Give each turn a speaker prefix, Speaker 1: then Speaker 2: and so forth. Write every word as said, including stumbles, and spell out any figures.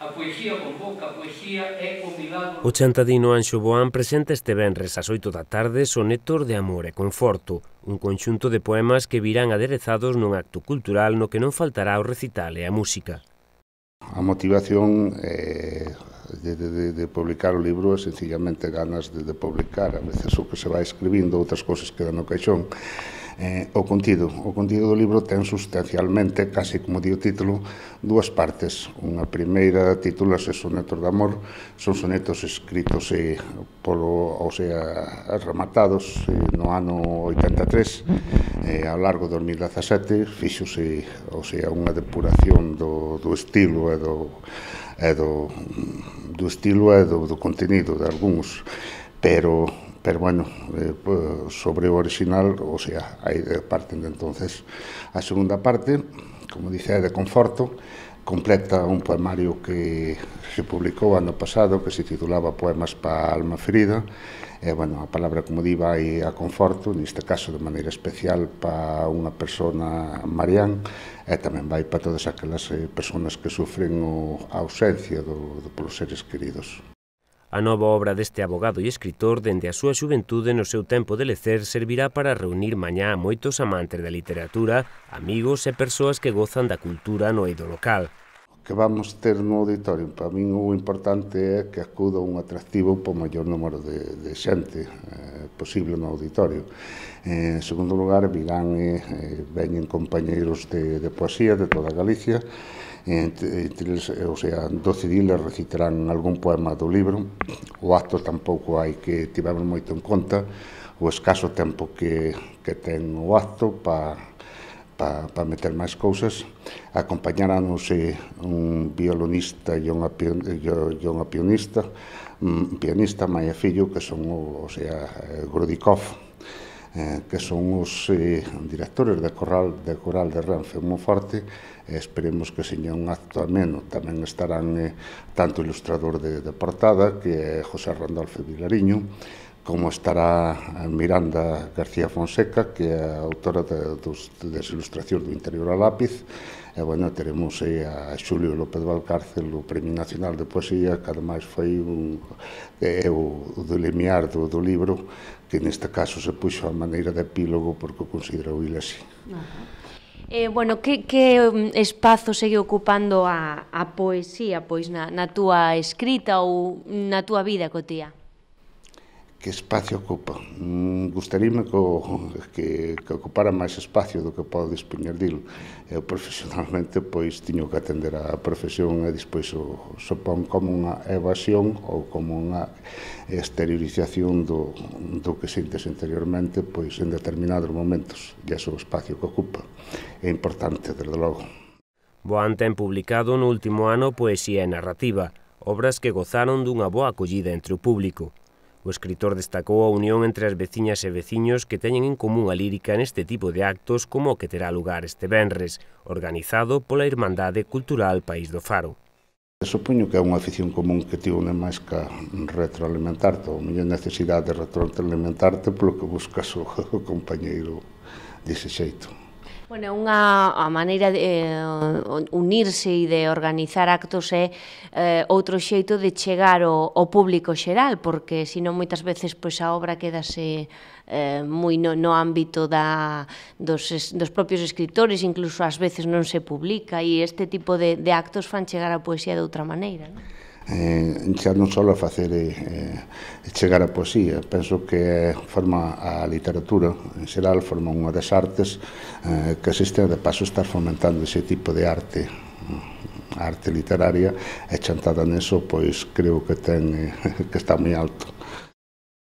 Speaker 1: A poesía convoca, a poesía é o milagro.
Speaker 2: O chantadino Anxo Boán presenta este venres ás oito da tarde Sonetos de amor e conforto, un conxunto de poemas que virán aderezados nun acto cultural no que non faltará o recital e a música.
Speaker 3: A motivación eh, de, de, de publicar o libro é sencillamente ganas de, de publicar, a veces o que se vai escribindo, outras cousas quedan no caixón. Eh, o contido, o contido do libro ten sustancialmente, casi como di o título, dúas partes. Unha primeira titúlase Sonetos de amor, son sonetos escritos eh, polo, ou sea, rematados eh, no ano oitenta e tres, eh, ao largo do dos mil dezasete, fíxose, ou sea, unha depuración do, do estilo e do, e do, do estilo e do, do contenido de algúns, pero pero bueno, eh, sobre o original, o sea, aí parten de entonces. A segunda parte, como dice, é de conforto, completa un poemario que se publicou ano pasado, que se titulaba Poemas pa alma ferida, e, bueno, a palabra, como di, vai a conforto, neste caso de maneira especial pa unha persona Marián, e tamén vai para todas aquelas eh, personas que sufren o, a ausencia do, do, polos seres queridos.
Speaker 2: A nova obra deste abogado e escritor, dende a súa xuventude no seu tempo de lecer, servirá para reunir mañá a moitos amantes da literatura, amigos e persoas que gozan da cultura no eido local.
Speaker 3: O que vamos ter no auditorio, para min o importante é que acuda un atractivo po maior número de, de xente eh, posible no auditorio. Eh, en segundo lugar, virán e eh, veñen compañeiros de, de poesía de toda Galicia, entre, entre, o sea, doce diles recitarán algún poema do libro. O acto tampouco hai que tivemos moito en conta o escaso tempo que, que ten o acto para pa, pa meter máis cousas. Acompañarános eh, un violonista e unha, e unha pianista, un pianista, Maia Fillo, que son o, o sea, Grudikov, eh, que son os eh, directores de coral de coral de Renfe Monforte, e esperemos que seña un acto ameno. Tamén estarán eh, tanto o ilustrador de, de portada, que é José Randolfo Vilariño, como estará Miranda García Fonseca, que é a autora de, dos, das ilustracións do Interior a lápiz, e, bueno, teremos eh, a Xulio López Valcárcel, o Premio Nacional de Poesía, que ademais foi un, é o, o do limiar do, do libro, que neste caso se puxo a maneira de epílogo porque o considerou il así.
Speaker 4: Ajá. Eh, bueno, que, que espazo segue ocupando a, a poesía pois na, na túa escrita ou na túa vida cotía?
Speaker 3: Que espacio ocupa? Mm, gustaríame que, que, que ocupara máis espacio do que podo dispoñer dilo. Eu profesionalmente pois tiño que atender a profesión e despois o supón como unha evasión ou como unha exteriorización do, do que sintes interiormente pois en determinados momentos, e ese o espacio que ocupa. É importante, desde logo.
Speaker 2: Boán ten publicado no último ano poesía e narrativa, obras que gozaron dunha boa acollida entre o público. O escritor destacou a unión entre as veciñas e veciños que teñen en común a lírica neste tipo de actos como o que terá lugar este venres, organizado pola Irmandade Cultural País do Faro.
Speaker 3: Supoño que é unha afición común que tivo non máis que retroalimentarte, ou mellor necesidade de retroalimentarte polo que buscas o, o compañeiro dese xeito.
Speaker 4: Bueno, unha a maneira de eh, unirse e de organizar actos é eh, outro xeito de chegar ao, ao público xeral, porque senón moitas veces pois a obra quedase eh, moi no, no ámbito da, dos, dos propios escritores, incluso ás veces non se publica, e este tipo de, de actos fan chegar a poesía de outra maneira, non?
Speaker 3: Eh, xa non só a facer eh, chegar a poesía, penso que forma a literatura en xeral, forma unha das artes eh, que existe, de paso estar fomentando ese tipo de arte, a arte literaria, e chantada neso, pois creo que ten eh, que está moi alto.